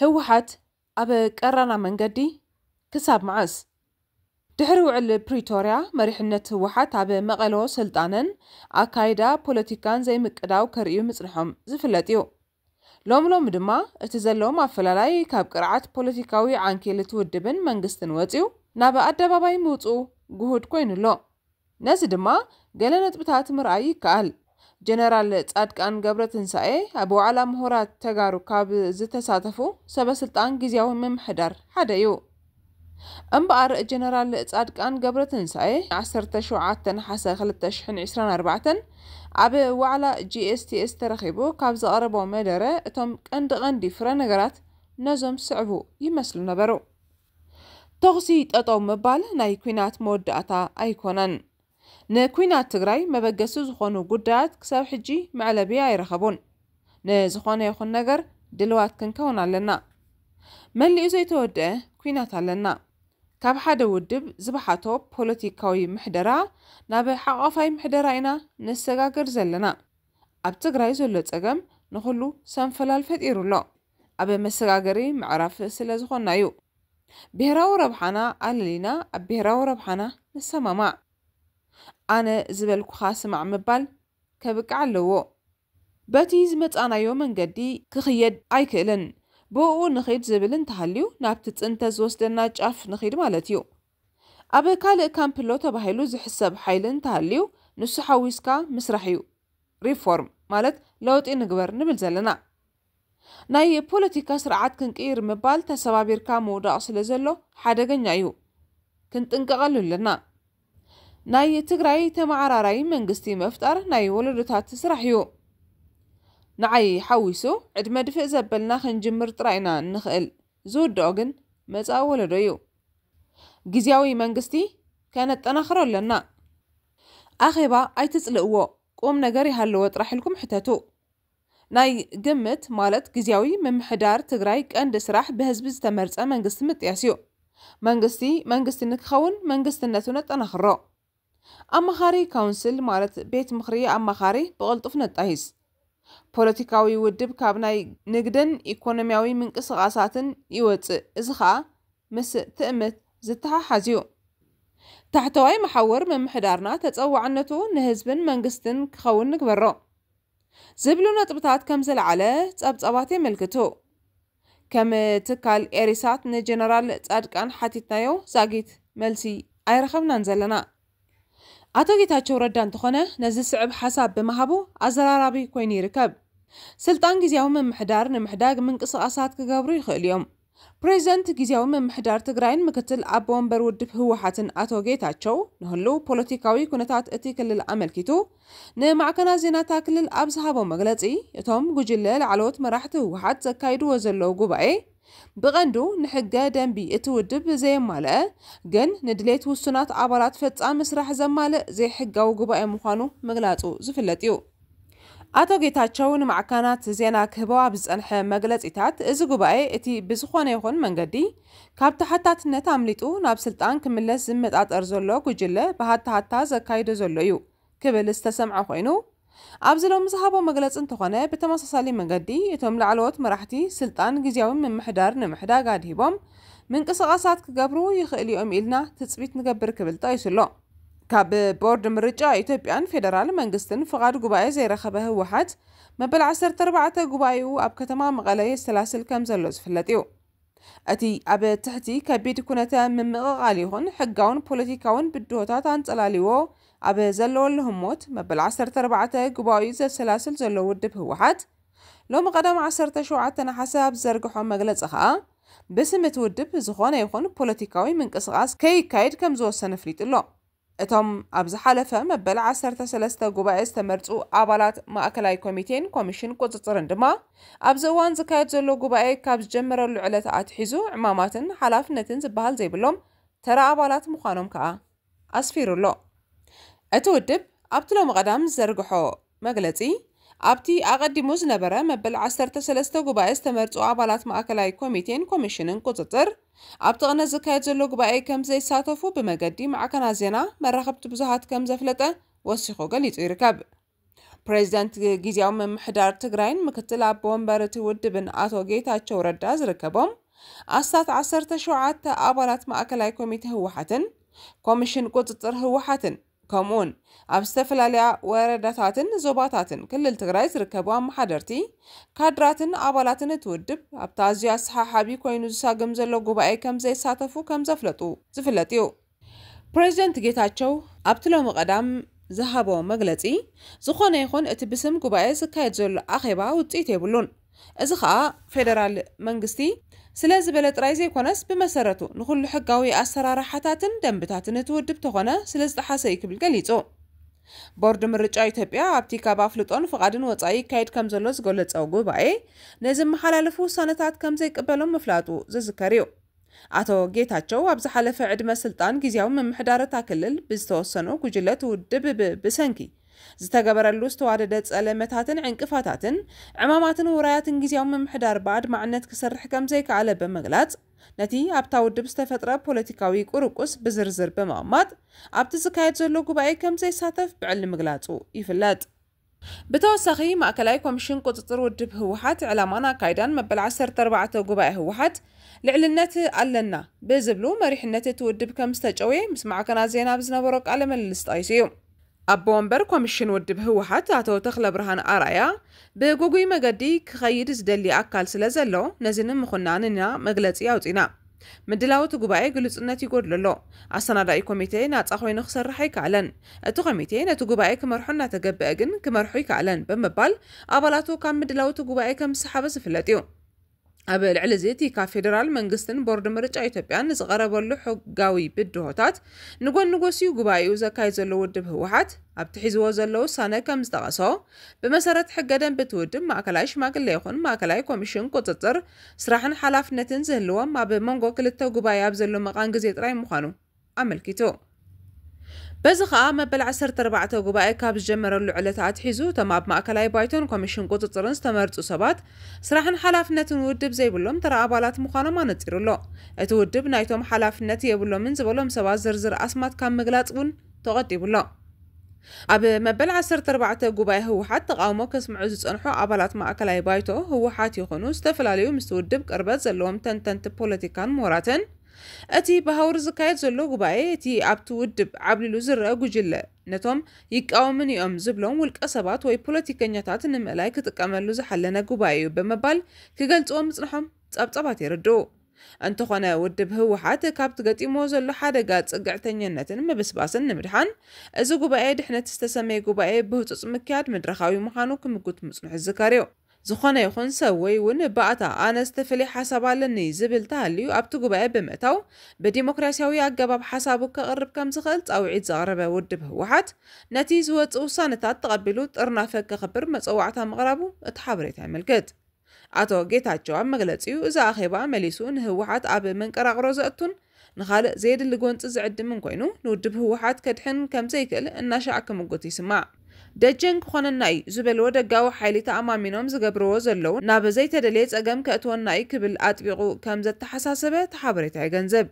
ህወሓት ኣብ ቀራና መንገዲ ክሳብ መዓስ? ድሕሪ ውዕል ፕሪቶርያ መሪሕነት ህወሓት ኣብ መቐሎ ስልጣንን ኣካይዳ ፖለቲካን ዘይምቅዳው ከርእዩ ምጽንሖም ዝፍለጥ እዩ። ሎም ሎም ድማ እቲ ዘለዎም ኣፈላላይ ካብ ቅርዓት ፖለቲካዊ ዓንኬል እቲ ውድብን መንግስትን ወጺኡ ናብ ኣደባባይ ምውጽኡ ግሁድ ኮይኑ ኣሎ። ነዚ ድማ ገለ ነጥብታት ምርኣይ ይከኣል። ጀነራል ጻድቃን ገብረትንሳኤ ኣብ ዋዕላ ምሁራት ተጋሩ ካብ ዝተሳተፉ ሰበ ስልጣን ግዝያዊ ምምሕዳር ሓደ እዩ። እምበኣር ጀነራል ጻድቃን ገብረትንሳኤ ዓሰርተ ሸውዓተ ነሓሰ ክልተ ሽሕን ዕስራን ኣርባዕተን ኣብ ዋዕላ ጂ ኤስ ቲ ኤስ ተረኺቡ ካብ ዘቕረቦ መደረ እቶም ቀንዲ ቀንዲ ፍረ ነገራት ነዞም ዝስዕቡ ይመስሉ ነበሩ። ተኹሲ ጠጠው ምባል ናይ ኲናት መወዳእታ ኣይኮነን። ንኲናት ትግራይ መበገሲ ዝኾኑ ጉዳያት ክሳብ ሕጂ መዕለቢ ኣይረኸቡን። ንዝኾነ ይኹን ነገር ድልዋት ክንከውን ኣለና። መሊኡ ዘይተወደአ ኲናት ኣለና። ካብ ሓደ ውድብ ዝበሓቶ ፖለቲካዊ ምሕደራ ናብ ሓቋፋይ ምሕደራ ኢና ንሰጋገር ዘለና። ኣብ ትግራይ ዘሎ ጸገም ንኹሉ ሰንፈላል ፈጢሩ ኣሎ። ኣብ መሰጋገሪ ምዕራፍ ስለ ዝኾንና እዩ። ብሄራዊ ረብሓና ኣለሊና ኣብ ብሄራዊ ረብሓና ንሰማማዕ። ኣነ ዝበልኩኻ ስማዕ ምባል ከብቅዕ ኣለዎ። በቲ ዝመጻናዮ መንገዲ ክኽየድ ኣይክእልን፣ ብእኡ ንኺድ ዝብል እንተሃልዩ ናብቲ ጽንተት ዝወስደና ጫፍ ንኺድ ማለት እዩ። ኣብ ካልእ ካምፕ ኣሎ ተባሂሉ ዝሕሰብ ሓይሊ እንተሃልዩ ንሱ ሓዊስካ ምስራሕ እዩ። ሪፎርም ማለት ለውጢ ንግበር ንብል ዘለና። ናይ ፖለቲካ ስርዓት ክንቅይር ምባል ተሰባቢርካ ምውዳቕ ስለ ዘሎ ሓደገኛ እዩ። ክንጥንቀቐሉ ኣለና። ናይ ትግራይ ተመዓራራይ መንግስቲ ምፍጣር ናይ ወለዶታት ስራሕ እዩ። ንዓይ ሓዊሱ ዕድመ ድፍእ ዘበልና ክንጅምር ጥራይ ኢና ንኽእል። ዝውድኦ ግን መጻኢ ወለዶ እዩ። ግዝያዊ መንግስቲ ከነጠናኽሮ ኣለና። ኣኼባ ኣይትጽልእዎ፣ ቁም ነገር ይሃለዎ ጥራሕ ኢልኩም ሕተቱ። ናይ ግምት ማለት ግዝያዊ ምምሕዳር ትግራይ ቀንዲ ስራሕ ብህዝቢ ዝተመርጸ መንግስቲ ምጥያስ እዩ። መንግስቲ መንግስቲ ንክኸውን መንግስትነቱ ነጠናኽሮ። ኣማኻሪ ካውንስል ማለት ቤት ምኽሪ ኣማኻሪ ብቕልጡፍ ነጣይስ። ፖለቲካዊ ውድብ ካብ ናይ ንግድን ኢኮኖሚያዊ ምንቅስቓሳትን ይወጽእ። እዚ ኸኣ ምስ ትእምት ዝተሓሓዝ እዩ። ታሕተዋይ መሓውር ምምሕዳርና ተጸዋዕነቱ ንህዝብን መንግስትን ክኸውን ንግበሮ። ዝብሉ ነጥብታት ከም ዘለዓለ ጸብጻባት የመልክቱ። ከም ትካል ኤሪሳት ንጀነራል ጻድቃን ሓቲትናዮ ዛጊት መልሲ ኣይረኸብናን ዘለና። ኣቶ ጌታቸው ረዳ እንተኾነ ነዚ ስዕብ ሓሳብ ብምሃቡ ኣዘራራቢ ኮይኑ ይርከብ። ስልጣን ግዝያዊ ምምሕዳር ንምሕዳግ ምንቅስቓሳት ክገብሩ ይኽእሉ እዮም። ፕሬዚደንት ግዝያዊ ምምሕዳር ትግራይን ምክትል ኣቦ ወንበር ውድብ ህወሓትን ኣቶ ጌታቸው ንህልው ፖለቲካዊ ኩነታት እቲ ክልል ኣመልኪቱ ንማዕከናት ዜና እታ ክልል ኣብ ዝሃቦ መግለጺ፣ እቶም ጉጅለ ላዕለዎት መራሕቲ ህወሓት ዘካይድዎ ዘለዉ ጉባኤ ብቐንዱ ንሕገ ደንቢ እቲ ውድብ ዘየማልአ ግን ንድሌት ውሱናት ኣባላት ፈጻሚ ስራሕ ዘማልእ ዘይሕጋዊ ጉባኤ ምዃኑ ምግላጹ ዝፍለጥ እዩ። ኣቶ ጌታቸው ንማዕከናት ዜና ክህቦ ኣብ ዝጸንሐ መግለጺታት፣ እዚ ጉባኤ እቲ ብዝኾነ ይኹን መንገዲ ካብ ተሓታትነት ኣምሊጡ ናብ ስልጣን ክምለስ ዝመጣጠር ዘሎ ጉጅለ ብሃታሃታ ዘካይዶ ዘሎ እዩ ክብል ዝተሰምዐ ኮይኑ፣ ኣብዚ ሎሚ ዝሃቦ መግለጺ እንተኾነ፣ ብተመሳሳሊ መንገዲ እቶም ላዕለዎት መራሕቲ ስልጣን ግዝያዊ ምምሕዳር ንምሕዳግ ኣድሂቦም ምንቅስቓሳት ክገብሩ ይኽእሉ እዮም ኢልና ትጽቢት ንገብር ክብል ጠቒሱ ኣሎ። ካብ ቦርድ ምርጫ ኢትዮጵያን ፌደራል መንግስትን ፍቓድ ጉባኤ ዘይረኸበ ህወሓት መበል ዓሰርተ ኣርባዕተ ጉባኤኡ ኣብ ከተማ መቐለ የሰላስል ከም ዘሎ ዝፍለጥ እዩ። እቲ ኣብ ትሕቲ ከቢድ ኩነተ ምምቕቓል ይኹን ሕጋውን ፖለቲካውን ብድሆታት ኣንጸላልዎ ኣብ ዘለወሉ ህሞት መበል ዓሰርተ ኣርባዕተ ጉባኤኡ ዘሰላስል ዘሎ ውድብ ህወሓት ሎሚ ቀዳም ዓሰርተ ሸውዓተ ነሓሰ ኣብ ዝዘርግሖ መግለጺ ኸኣ ብስም እቲ ውድብ ዝኾነ ይኹን ፖለቲካዊ ምንቅስቓስ ከይካየድ ከም ዝወሰነ ኣፍሊጡ ኣሎ። እቶም ኣብ ዝሓለፈ መበል ዓሰርተ ሰለስተ ጉባኤ ዝተመርጹ ኣባላት ማእከላይ ኮሚቴን ኮሚሽን ቁጽጽርን ድማ ኣብዚ እዋን ዝካየድ ዘሎ ጉባኤ ካብ ዝጀመረሉ ዕለት ኣትሒዙ ዕማማትን ሓላፍነትን ዝበሃል ዘይብሎም ተራ ኣባላት ምዃኖም ከኣ ኣስፊሩ ኣሎ። እቲ ውድብ ኣብቲ ሎሚ ቀዳም ዝዘርግሖ መግለጺ፣ ኣብቲ ኣቐዲሙ ዝነበረ መበል ዓሰርተ ሰለስተ ጉባኤ ዝተመርጹ ኣባላት ማእከላይ ኮሚቴን ኮሚሽንን ቁጽጽር ኣብቲ ቅነ ዝካየድ ዘሎ ጉባኤ ከም ዘይሳተፉ ብመገዲ ማዕከናት ዜና መራኸብቲ ብዙሃት ከም ዘፍለጠ ወሲኹ ገሊጹ ይርከብ። ፕሬዚደንት ግዝያዊ ምምሕዳር ትግራይን ምክትል ኣቦ ወንበር እቲ ውድብን ኣቶ ጌታቸው ረዳ ዝርከቦም ኣስታት ዓሰርተ ሸውዓተ ኣባላት ማእከላይ ኮሚቴ ህወሓትን ኮሚሽን ቁፅፅር ህወሓትን ከምኡውን ኣብ ዝተፈላለያ ወረዳታትን ዞባታትን ክልል ትግራይ ዝርከቡ ኣመሓደርቲ፣ ካድራትን ኣባላትን እቲ ውድብ ኣብቲ ኣዝዩ ኣሰሓሓቢ ኮይኑ ዝሳግም ዘሎ ጉባኤ ከም ዘይሳተፉ ከም ዘፍለጡ ዝፍለጥ እዩ። ፕሬዚደንት ጌታቸው ኣብቲ ሎሚ ቀዳም ዝሃቦ መግለፂ፣ ዝኾነ ይኹን እቲ ብስም ጉባኤ ዝካየድ ዘሎ ኣኼባ ውፅኢት የብሉን። እዚ ኸኣ ፌደራል መንግስቲ ስለ ዝበለ ጥራይ ዘይኮነስ፣ ብመሰረቱ ንኹሉ ሕጋዊ ኣሰራርሓታትን ደንብታትን እቲ ውድብ ተኾነ ስለ ዝጠሓሰ እዩ ክብል ገሊጹ። ቦርድ ምርጫ ኢትዮጵያ ኣብቲ ካብ ኣፍልጦን ፍቓድን ወጻኢ ይካየድ ከም ዘሎ ዝገለጸ ጉባኤ፣ ንዝመሓላለፉ ውሳነታት ከም ዘይቅበሎም ምፍላጡ ዝዝከር እዩ። ኣቶ ጌታቸው ኣብ ዝሓለፈ ዕድመ ስልጣን ግዝያዊ ምምሕዳር እታ ክልል ብዝተወሰኑ ጉጅለ እቲ ውድብ ብ-፣ ብሰንኪ ዝተገበረሉ ዝተዋደደ ጸለመታትን ዕንቅፋታትን ዕማማትን ውራያትን ግዝያዊ ምምሕዳር ብኣድማዕነት ክሰርሕ ከም ዘይከኣለ ብምግላጽ፣ ነቲ ኣብታ ውድብ ዝተፈጥረ ፖለቲካዊ ቁርቁስ ብዝርዝር ብምቕማጥ፣ ኣብቲ ዝካየድ ዘሎ ጉባኤ ከም ዘይሳተፍ ብዕሊ ምግላጹ ይፍለጥ። ብተወሳኺ፣ ማእከላይ ኮሚሽን ቁጽጽር ውድብ ህወሓት ዕላማን ኣካይዳን መበል ዓሰርተ ኣርባዕተ ጉባኤ ህወሓት ልዕልነት ኣለና ብዝብሉ መሪሕነት እቲ ውድብ ከም ዝተጨውየ ምስ ማዕከናት ዜና ብዝነበሮ ቃለ ምልልስ ጠቒሱ እዩ። ኣቦ ወንበር ኮሚሽን ውድብ ህወሓት ኣቶ ተኽለ ብርሃን ኣርኣያ፣ ብጉጉይ መገዲ ክኸይድ ዝደሊ ኣካል ስለ ዘሎ፣ ነዚ ንምኹናን ኢና መግለጺ ኣውጺና። ምድላው እቲ ጉባኤ ግሉጽነት ይጎድሎ ኣሎ። ኣሰናዳኢ ኮሚቴ ናጻ ኮይኑ ክሰርሕ ኣይከኣለን። እቲ ኮሚቴ ነቲ ጉባኤ ክመርሖ እናተገበአ ግን ክመርሖ ኣይከኣለን ብምባል ኣባላቱ ካብ ምድላው እቲ ጉባኤ ከም ዝሰሓበ ዝፍለጥ እዩ። ኣብ ልዕሊ እዚ እቲ ካብ ፌደራል መንግስትን ቦርድ ምርጫ ኢትዮጵያን ዝቐረበሉ ሕጋዊ ብድሆታት ንጎኒ ጎስዩ ጉባኤኡ ዘካይድ ዘሎ ውድብ ህወሓት ኣብቲ ሒዝዎ ዘሎ ውሳነ ከም ዝጠቐሶ፣ ብመሰረት ሕገ ደንቢ እቲ ውድብ ማእከላይ ሽማግለ ይኹን ማእከላይ ኮሚሽን ቁጽጽር ስራሕን ሓላፍነትን ዝህልዎም ኣብ መንጎ ክልተ ጉባኤ ኣብ ዘሎ መቓን ግዜ ጥራይ ምዃኑ ኣመልኪቱ። በዚ ኸኣ መበል ዓሰርተ ኣርባዕተ ጉባኤ ካብ ዝጀመረሉ ዕለት ኣትሒዙ እቶም ኣብ ማእከላይ ባይቶን ኮሚሽን ቁጽጽርን ዝተመርጹ ሰባት ስራሕን ሓላፍነትን ውድብ ዘይብሎም ተራ ኣባላት ምዃኖም ኣነጺሩ ኣሎ። እቲ ውድብ ናይቶም ሓላፍነት የብሎምን ዝበሎም ሰባት ዝርዝር ኣስማት ካብ ምግላጽ እውን ተቖጢቡ ኣሎ። ኣብ መበል ዓሰርተ ኣርባዕተ ጉባኤ ህወሓት ተቓውሞ ከስምዑ ዝጸንሑ ኣባላት ማእከላይ ባይቶ ህወሓት ይኹኑ ዝተፈላለዩ ምስቲ ውድብ ቅርበት ዘለዎም ተንተንቲ ፖለቲካን ምሁራትን፣ እቲ ብሃውር ዝካየድ ዘሎ ጉባኤ እቲ ኣብቲ ውድብ ዓብሊሉ ዝረአ ጉጅለ ነቶም ይቃወሙኒ እዮም ዝብሎም ውልቀ ሰባት ወይ ፖለቲከኛታት ንምእላይ ክጥቀመሉ ዝሓለነ ጉባኤ እዩ ብምባል ክገልጽዎ ምጽንሖም ጸብጻባት የረድኡ። እንተኾነ ውድብ ህወሓት ካብቲ ገጢምዎ ዘሎ ሓደጋ ጽግዕተኛነትን ምብስባስን ንምድሓን፣ እዚ ጉባኤ ድሕነት ዝተሰመየ ጉባኤ ብህጹጽ ምክያድ መድረኻዊ ምዃኑ ክምጉት ምጽንሑ ዝዝከር እዩ። ዝኾነ ይኹን ሰብ ወይ እውን ባእታ ኣነ ዝተፈለየ ሓሳብ ኣለኒ ዝብል ተሃልዩ ኣብቲ ጉባኤ ብምእታው ብዲሞክራሲያዊ ኣገባብ ሓሳቡ ከቕርብ ከም ዝኽእል ጻውዒት ዘቕረበ ውድብ ህወሓት ነቲ ዝወጽእ ውሳነታት ተቐቢሉ ጥርናፈ ከኽብር መጸዋዕታ ምቕራቡ እቲ ሓበሬታ የመልክት። ኣቶ ጌታቸው ኣብ መግለጺኡ፣ እዚ ኣኼባ መሊሱ ንህወሓት ኣብ መንቀራቕሮ ዘእቱን ንኻልእ ዘየድሊ ጎንጺ ዝዕድምን ኮይኑ፣ ንውድብ ህወሓት ከድሕን ከም ዘይክእል እናሻዕ ክምጉት ይስማዕ። ደጀን ክኾነና እዩ ዝበልዎ ደጋዊ ሓይሊ ተኣማሚኖም ዝገብርዎ ዘለዉ ናብ ዘይተደልየ ጸገም ከእትወና እዩ ክብል ኣጥቢቑ ከም ዘተሓሳሰበ እቲ ሓበሬታ የገንዝብ።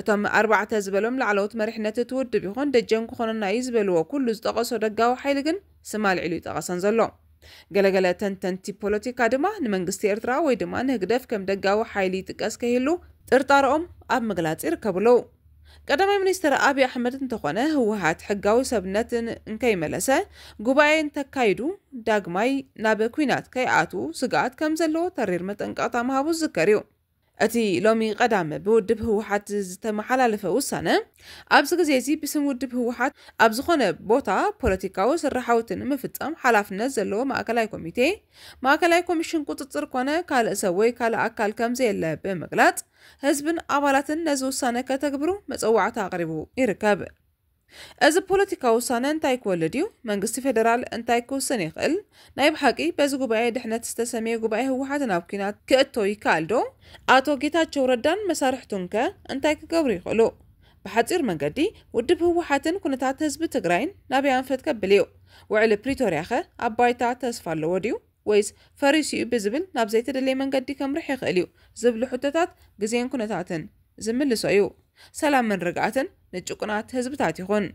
እቶም ኣርባዕተ ዝበሎም ላዕለዎት መሪሕነት እቲ ውድብ ይኹን ደጀን ክኾነና እዩ ዝበልዎ ኩሉ ዝጠቐሶ ደጋዊ ሓይሊ ግን ስም ኣልዒሉ ይጠቐሰን ዘሎ። ገለገለ ተንተንቲ ፖለቲካ ድማ ንመንግስቲ ኤርትራ ወይ ድማ ንህግደፍ ከም ደጋዊ ሓይሊ ይጥቀስ ከይህሉ ጥርጣረኦም ኣብ ምግላጽ ይርከቡ ኣለዉ። ቀዳማይ ሚኒስትር ኣብይ ኣሕመድ እንተኾነ ህወሓት ሕጋዊ ሰብነትን እንከይመለሰ ጉባኤ እንተካይዱ ዳግማይ ናብ ኲናት ከይኣትዉ ስግኣት ከም ዘለዎ ተሪር መጠንቀቕታ ምሃቡ ዝዝከር እዩ። እቲ ሎሚ ቀዳም ብውድብ ህወሓት ዝተመሓላለፈ ውሳነ ኣብዚ ግዜ እዚ ብስም ውድብ ህወሓት ኣብ ዝኾነ ቦታ ፖለቲካዊ ስራሓውቲ ንምፍጻም ሓላፍነት ዘለዎ ማእከላይ ኮሚቴ፣ ማእከላይ ኮሚሽን ቁጽጽር ኮነ ካልእ ሰብ ወይ ካልእ ኣካል ከም ዘየለ ብምግላጽ፣ ህዝብን ኣባላትን ነዚ ውሳነ ከተግብሩ መጸዋዕታ ኣቕሪቡ ይርከብ። እዚ ፖለቲካዊ ውሳነ እንታይ ክወልድ እዩ? መንግስቲ ፌደራል እንታይ ክውስን ይኽእል? ናይ ብሓቂ በዚ ጉባኤ ድሕነት ዝተሰምየ ጉባኤ ህወሓት ናብ ኲናት ክእቶ ይከኣል ዶ? ኣቶ ጌታቸው ረዳን መሳርሕቱን ከ እንታይ ክገብሩ ይኽእሉ? ብሓጺር መንገዲ ውድብ ህወሓትን ኩነታት ህዝቢ ትግራይን ናበይ ኣንፈት ከብል እዩ? ውዕሊ ፕሪቶርያ ከ ኣብ ባይታ ተስፋ ኣለዎ ድዩ? ወይስ ፈሪሱ እዩ ብዝብል ናብ ዘይተደለየ መንገዲ ከምርሕ ይኽእል እዩ ዝብሉ ሕቶታት ግዜን ኩነታትን ዝምልሶ እዩ። ሰላምን ርግኣትን ንጭቁናት ህዝብታት ይኹን።